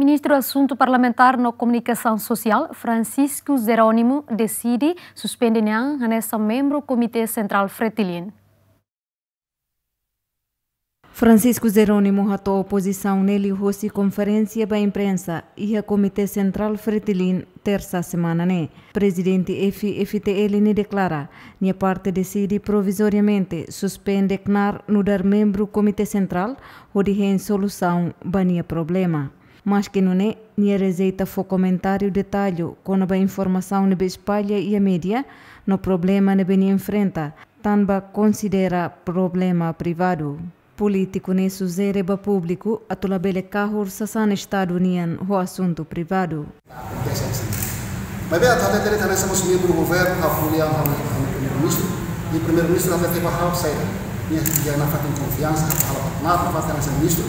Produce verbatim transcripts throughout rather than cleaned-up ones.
Ministru Asuntu Parlamentár no Komunikasaun Sosiál, Francisco Jerónimo, deside suspende nia an hanesan membru Komité Sentrál Fretilin. Francisco Jerónimo hato'o pozisaun ne'e liuhosi konferénsia ba imprensa iha Komité Sentrál Fretilin, tersa semana ne'e. Prezidente F I F T L ne'e deklara, nia parte deside provizoriamente suspende knaar nu'udar membru Komité Sentrál, hodi hein solusaun ba nia problema. Maske nune'e, nia rejeita fó komentáriu detallu kona-ba informasaun ne'ebé espalla iha média no problema ne'ebé nia enfrenta, tanba konsidera problema privadu. Polítiku ne'e sujere ba públiku atu labele kahur sasán Estadu nian ho asuntu privadu. Maibé atu hatete de'it hanesan mós membru governu, ha'u ko'alia ho ha'u-nia primeiru-ministru, i primeiru-ministru hatete ba ha'u saida, nia, nia iha nafatin konfiansa, ha'u halo nafatin hanesan ministru,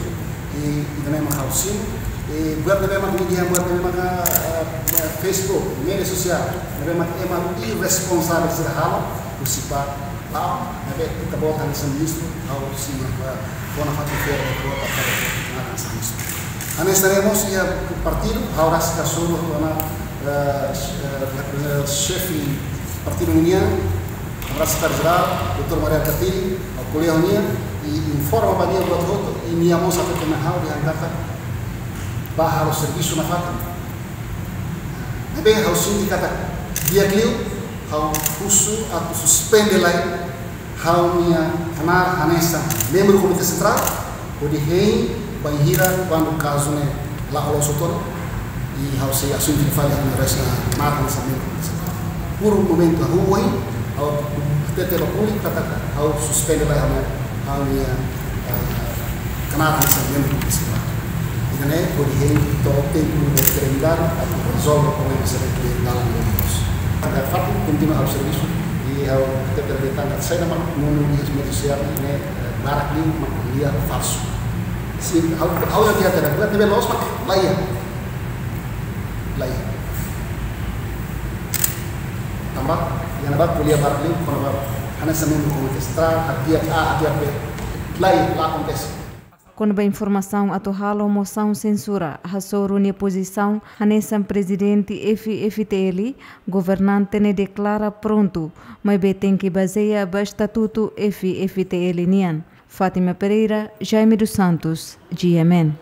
i, i também mak ha'u simu, i buat ne'ebé mak nia, buat ne'ebé mak, eh, Facebook, média sosiál, ne'ebé mak ema irresponsavel sira halo, husi ba, ba, ne'ebé ita-boot hanesan ministru, ha'u simu, eh, kona-ba fatin feto, kona-ba fatin feto, hanesan ministru. Hanesan ne'e mós iha partidu, ha'u rasik hasoru ona, eh, eh, xefe partidu nian, ha'u rasik sekretáriu jerál, doutór Mari Alkatiri, ha'u ko'alia ho nia, i informa ba nia buat hotu, i nia mós hatete mai ha'u dehan katak bá halo servisu nafatin. Ne'ebé ha'u sente katak di'ak liu, ha'u husu atu suspende lai ha'u-nia knaar hanesan membru Komité Sentrál, hodi hein bainhira kuandu kazu ne'e la'o loos hotu ona, i ha'u sei asumi fali ha'u-nia res-, knaar hanesan membru Komité Sentrál. Por momentu ha'u ohin, ha'u hatete ba públiku katak ha'u suspende lai ha'u, ha'u-nia, eh, knaar hanesan membru Komité Sentrál. Ida-ne'e hodi hein to'o tempu ne'ebé terendar atu rezolve problema sira ne'ebé dalan ne'e loos. Agora fatin kontinua ha'u servisu, i ha'u hatete de'it katak saida mak monu iha média sosiál ne'e, eh, barak liu mak ko'alia falsu. Sin, ha'u, ha'u la iha hatete buat ne'ebé loos mak la iha. La iha. Tanba, iha ne'ebá ko'alia barak liu, kona-ba hanesan membru Komité Sentrál, hadi'a A, hadi'a B. La iha, la akontese. Kona-ba informasaun atu halo mosaun sensura hasoru nia pozisaun hanesan prezidente F I F T L, governante ne'e deklara prontu, maibé tenke bazeia ba estatutu F I F T L nian. Fátima Pereira, Jaime dos Santos, G M N.